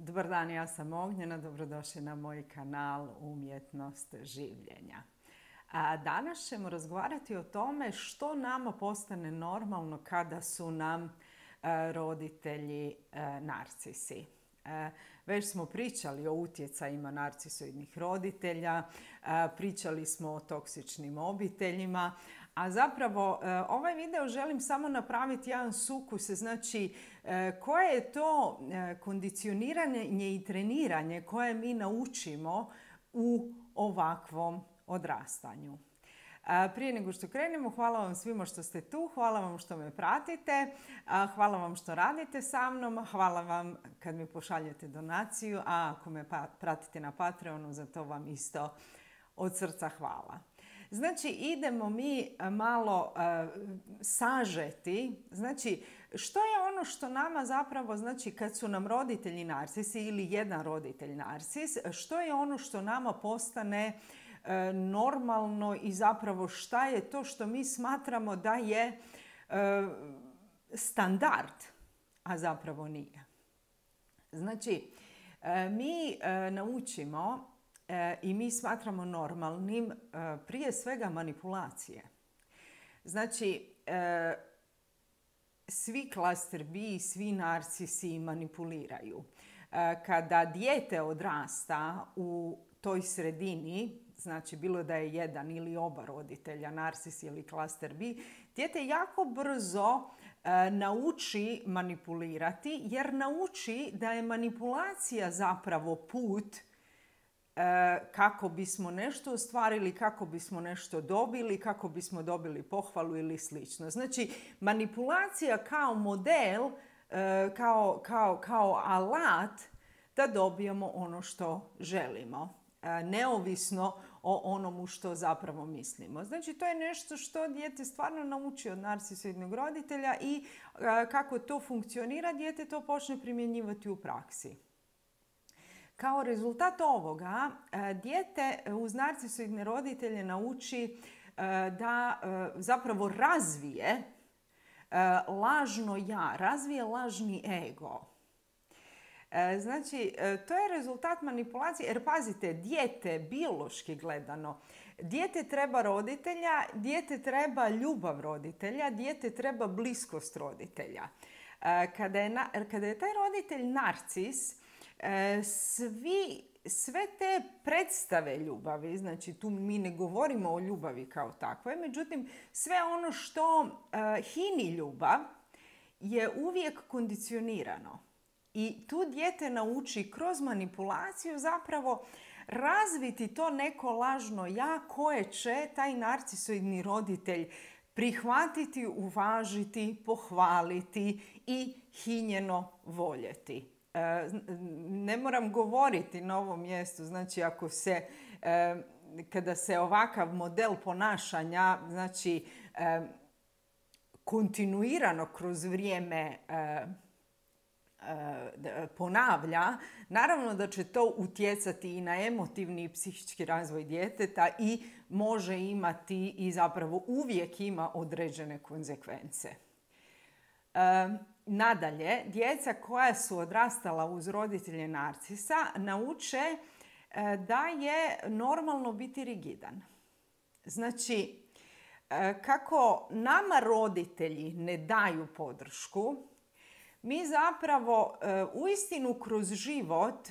Dobar dan, ja sam Ognjena, dobrodošli na moj kanal Umjetnost življenja. Danas ćemo razgovarati o tome što nama postane normalno kada su nam roditelji narcisi. Već smo pričali o utjecajima narcisoidnih roditelja, pričali smo o toksičnim obiteljima, a zapravo ovaj video želim samo napraviti jedan sukus, znači koje je to kondicioniranje i treniranje koje mi naučimo u ovakvom odrastanju. Prije nego što krenemo, hvala vam svima što ste tu, hvala vam što me pratite, hvala vam što radite sa mnom, hvala vam kad mi pošaljete donaciju, a ako me pratite na Patreonu, za to vam isto od srca hvala. Znači, idemo mi malo sažeti, znači, što je ono što nama zapravo, znači, kad su nam roditelji narcisi ili jedan roditelj narcis, što je ono što nama postane normalno i zapravo šta je to što mi smatramo da je standard, a zapravo nije. Znači, mi naučimo i mi smatramo normalnim prije svega manipulacije. Znači, svi klaster B, svi narcisi manipuliraju. Kada dijete odrasta u toj sredini, znači bilo da je jedan ili oba roditelja, narcis ili klaster B, dijete jako brzo nauči manipulirati jer nauči da je manipulacija zapravo put kako bismo nešto ostvarili, kako bismo nešto dobili, kako bismo dobili pohvalu ili slično. Znači, manipulacija kao model, kao alat da dobijemo ono što želimo, neovisno o onomu što zapravo mislimo. Znači, to je nešto što dijete stvarno nauči od narcisoidnog roditelja i kako to funkcionira, dijete to počne primjenjivati u praksi. Kao rezultat ovoga, dijete uz narcisoidne roditelje nauči da zapravo razvije lažno ja, razvije lažni ego. Znači, to je rezultat manipulacije, jer pazite, dijete, biološki gledano, dijete treba roditelja, dijete treba ljubav roditelja, dijete treba bliskost roditelja. Kada je taj roditelj narcis, sve te predstave ljubavi, znači tu mi ne govorimo o ljubavi kao takvoj, međutim sve ono što hini ljubav je uvijek kondicionirano. I tu dijete nauči kroz manipulaciju zapravo razviti to neko lažno ja koje će taj narcisoidni roditelj prihvatiti, uvažiti, pohvaliti i hinjeno voljeti. Ne moram govoriti na ovom mjestu, znači kada se ovakav model ponašanja, znači kontinuirano kroz vrijeme ponavlja, naravno da će to utjecati i na emotivni i psihički razvoj djeteta i može imati i zapravo uvijek ima određene konzekvence. Nadalje, djeca koja su odrastala uz roditelje narcisa nauče da je normalno biti rigidan. Znači, kako nama roditelji ne daju podršku, mi zapravo uistinu kroz život,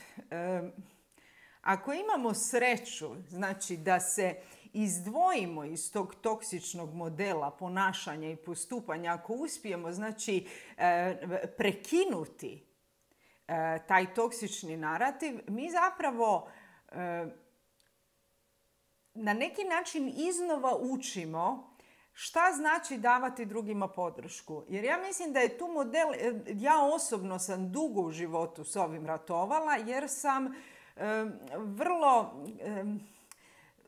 ako imamo sreću, znači da se izdvojimo iz tog toksičnog modela ponašanja i postupanja, ako uspijemo, znači, prekinuti taj toksični narativ, mi zapravo na neki način iznova učimo šta znači davati drugima podršku. Jer ja mislim da je tu model, ja osobno sam dugo u životu s ovim ratovala jer sam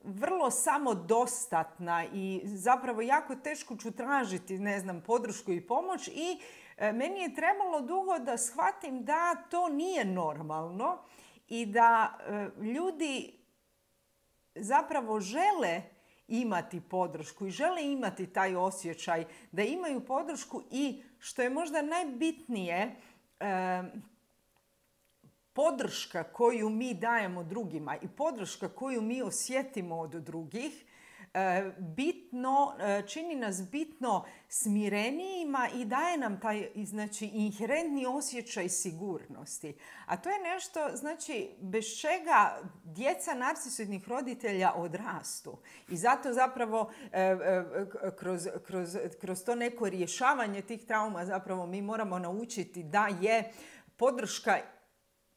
vrlo samodostatna i zapravo jako teško ću tražiti, podršku i pomoć i meni je trebalo dugo da shvatim da to nije normalno i da ljudi zapravo žele imati podršku i žele imati taj osjećaj da imaju podršku i, što je možda najbitnije, podrška koju mi dajemo drugima i podrška koju mi osjetimo od drugih čini nas bitno smirenijima i daje nam taj, znači, inherentni osjećaj sigurnosti. A to je nešto, znači, bez čega djeca narcisoidnih roditelja odrastu. I zato zapravo kroz to neko rješavanje tih trauma zapravo mi moramo naučiti da je podrška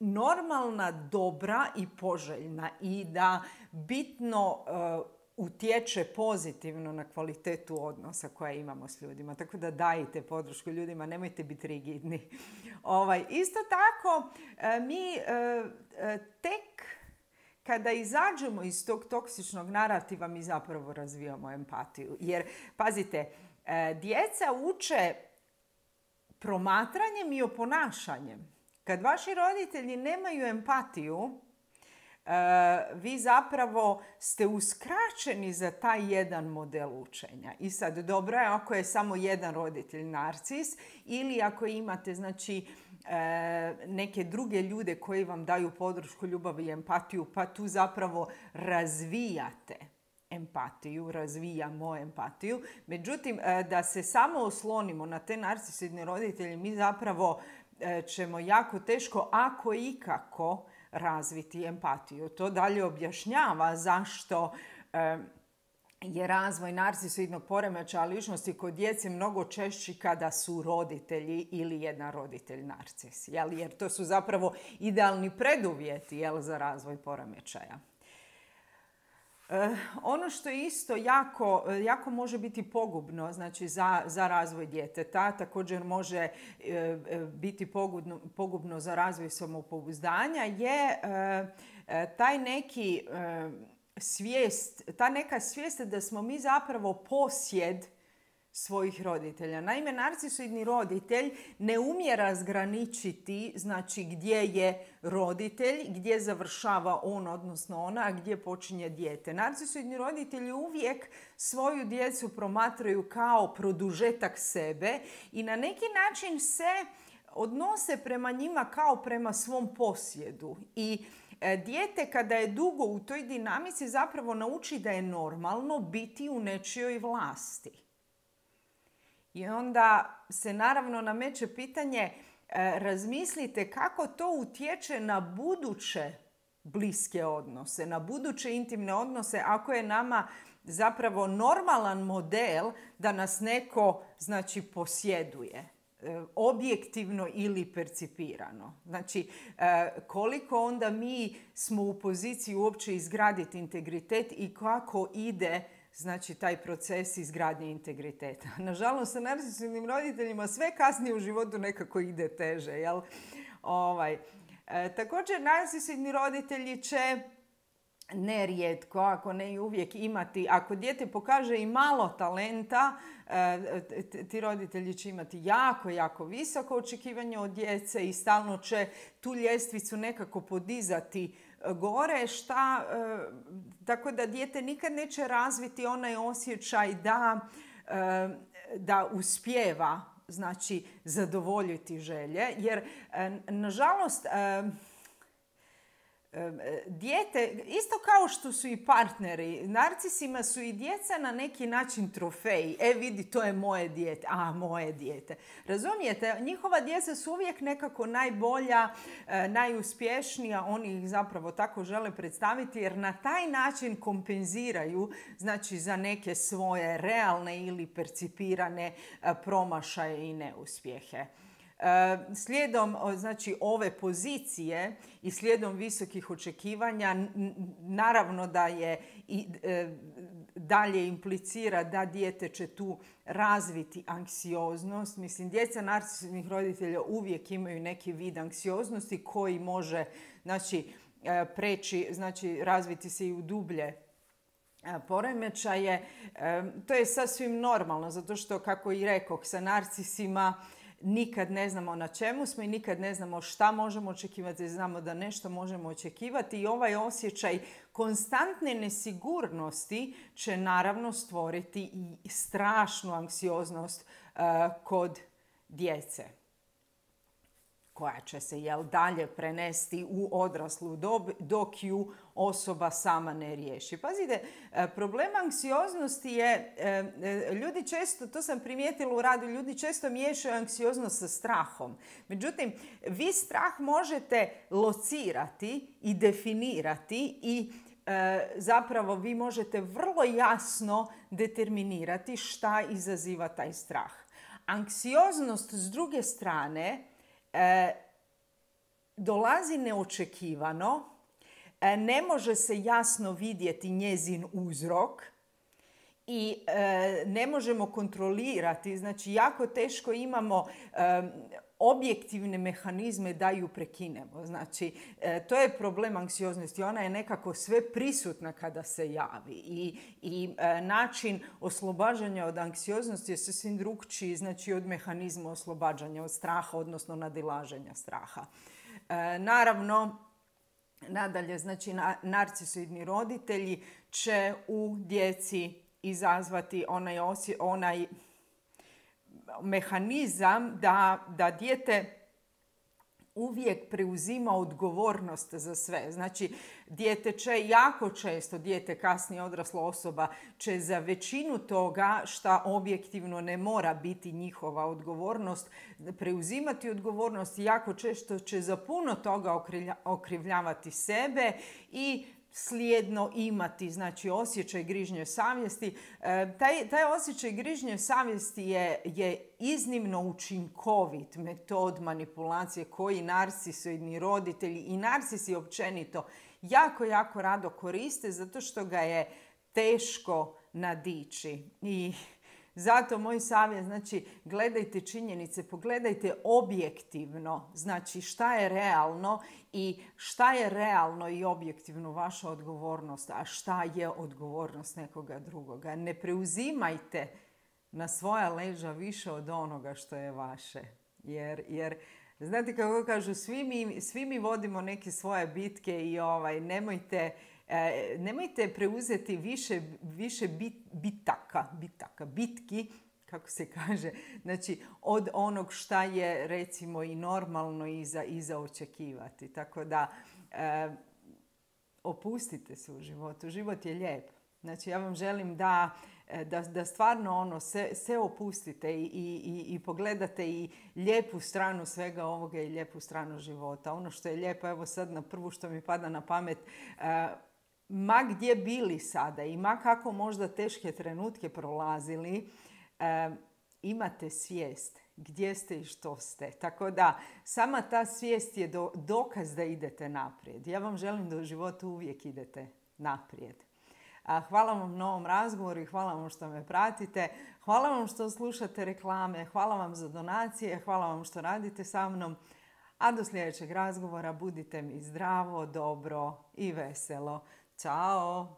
normalna, dobra i poželjna i da bitno utječe pozitivno na kvalitetu odnosa koje imamo s ljudima. Tako da dajte podršku ljudima, nemojte biti rigidni. Isto tako, mi tek kada izađemo iz tog toksičnog narativa, mi zapravo razvijamo empatiju. Jer, pazite, djeca uče promatranjem i oponašanjem. Kad vaši roditelji nemaju empatiju, vi zapravo ste uskraćeni za taj jedan model učenja. I sad, dobro je ako je samo jedan roditelj narcis ili ako imate, znači, neke druge ljude koji vam daju podršku, ljubav i empatiju, pa tu zapravo razvijate empatiju, razvijamo empatiju. Međutim, da se samo oslonimo na te narcisoidne roditelje, mi zapravo ćemo jako teško, ako ikako, razviti empatiju. To dalje objašnjava zašto je razvoj narcisoidnog poremećaja ličnosti kod djece mnogo češći kada su roditelji ili jedan roditelj narcis. Jer to su zapravo idealni preduvjeti za razvoj poremećaja. Ono što je isto jako može biti pogubno, znači za razvoj djeteta, također može biti pogubno za razvoj samopouzdanja, je ta neka svijest da smo mi zapravo posjed svojih roditelja. Naime, narcisoidni roditelj ne umije razgraničiti, znači, gdje je roditelj, gdje završava on, odnosno ona, a gdje počinje dijete. Narcisoidni roditelji uvijek svoju djecu promatraju kao produžetak sebe i na neki način se odnose prema njima kao prema svom posjedu. I dijete kada je dugo u toj dinamici zapravo nauči da je normalno biti u nečijoj vlasti. I onda se naravno nameće pitanje, razmislite kako to utječe na buduće bliske odnose, na buduće intimne odnose, ako je nama zapravo normalan model da nas neko, znači, posjeduje, objektivno ili percipirano. Znači, koliko onda mi smo u poziciji uopće izgraditi integritet i kako ide, znači, taj proces izgradnje integriteta. Nažalost, sa narcisoidnim roditeljima sve kasnije u životu nekako ide teže. Jel? Također, narcisoidni roditelji će nerijetko, ako ne i uvijek, imati, ako dijete pokaže i malo talenta, ti roditelji će imati jako visoko očekivanje od djece i stalno će tu ljestvicu nekako podizati gore, tako da dijete nikad neće razviti onaj osjećaj da uspijeva, znači, zadovoljiti želje, jer nažalost dijete, isto kao što su i partneri, narcisima su i djeca na neki način trofeji. Vidi, to je moje dijete. Moje dijete. Razumijete? Njihova djeca su uvijek nekako najbolja, najuspješnija. Oni ih zapravo tako žele predstaviti jer na taj način kompenziraju, znači, za neke svoje realne ili percipirane promašaje i neuspjehe. Slijedom, znači, ove pozicije i slijedom visokih očekivanja, naravno da je dalje implicira da dijete će tu razviti anksioznost. Mislim, djeca narcisoidnih roditelja uvijek imaju neki vid anksioznosti koji može, znači, preći, znači, razviti se i u dublje poremećaje. To je sasvim normalno, zato što, kako i rekoh, sa narcisima nikad ne znamo na čemu smo i nikad ne znamo šta možemo očekivati. Znamo da nešto možemo očekivati i ovaj osjećaj konstantne nesigurnosti će naravno stvoriti i strašnu anksioznost kod djece. koja će se dalje prenesti u odraslu dob dok ju osoba sama ne riješi. Pazite, problem anksioznosti je, ljudi često, to sam primijetila u radu, ljudi često miješaju anksioznost sa strahom. Međutim, vi strah možete locirati i definirati i zapravo vi možete vrlo jasno determinirati šta izaziva taj strah. Anksioznost s druge strane dolazi neočekivano, ne može se jasno vidjeti njezin uzrok i ne možemo kontrolirati, znači jako teško imamo objektivne mehanizme da ju prekinemo. Znači, to je problem anksioznosti. Ona je nekako sve prisutna kada se javi i način oslobađanja od anksioznosti je sasvim drukčiji, znači od mehanizma oslobađanja od straha, odnosno nadilaženja straha. Naravno, nadalje, znači narcisoidni roditelji će u djeci izazvati onaj mehanizam da dijete uvijek preuzima odgovornost za sve. Znači, dijete će jako često, dijete kasnije odrasla osoba, će za većinu toga šta objektivno ne mora biti njihova odgovornost, preuzimati odgovornost i jako često će za puno toga okrivljavati sebe i slijedno imati, znači, osjećaj grižnje savjesti. Taj osjećaj grižnje savjesti je iznimno učinkovit metod manipulacije koji narcisoidni roditelji i narcisi općenito jako, jako rado koriste zato što ga je teško nadići. I zato moj savjet, znači, gledajte činjenice, pogledajte objektivno, znači šta je realno i objektivno vaša odgovornost, a šta je odgovornost nekoga drugoga. Ne preuzimajte na svoja leđa više od onoga što je vaše. Jer znate kako kažu, svi mi vodimo neke svoje bitke i nemojte preuzeti više bitki, kako se kaže, znači od onog šta je recimo i normalno i za očekivati. Tako da opustite se u životu. Život je lijep. Znači ja vam želim da stvarno se opustite i pogledate i lijepu stranu svega ovoga i lijepu stranu života. Ono što je lijepo, evo sad na prvu što mi pada na pamet, ma gdje bili sada i ma kako možda teške trenutke prolazili, imate svijest gdje ste i što ste. Tako da sama ta svijest je dokaz da idete naprijed. Ja vam želim da u životu uvijek idete naprijed. Hvala vam na ovom razgovoru i hvala vam što me pratite. Hvala vam što slušate reklame, hvala vam za donacije, hvala vam što radite sa mnom. A do sljedećeg razgovora budite mi zdravo, dobro i veselo. Ćao!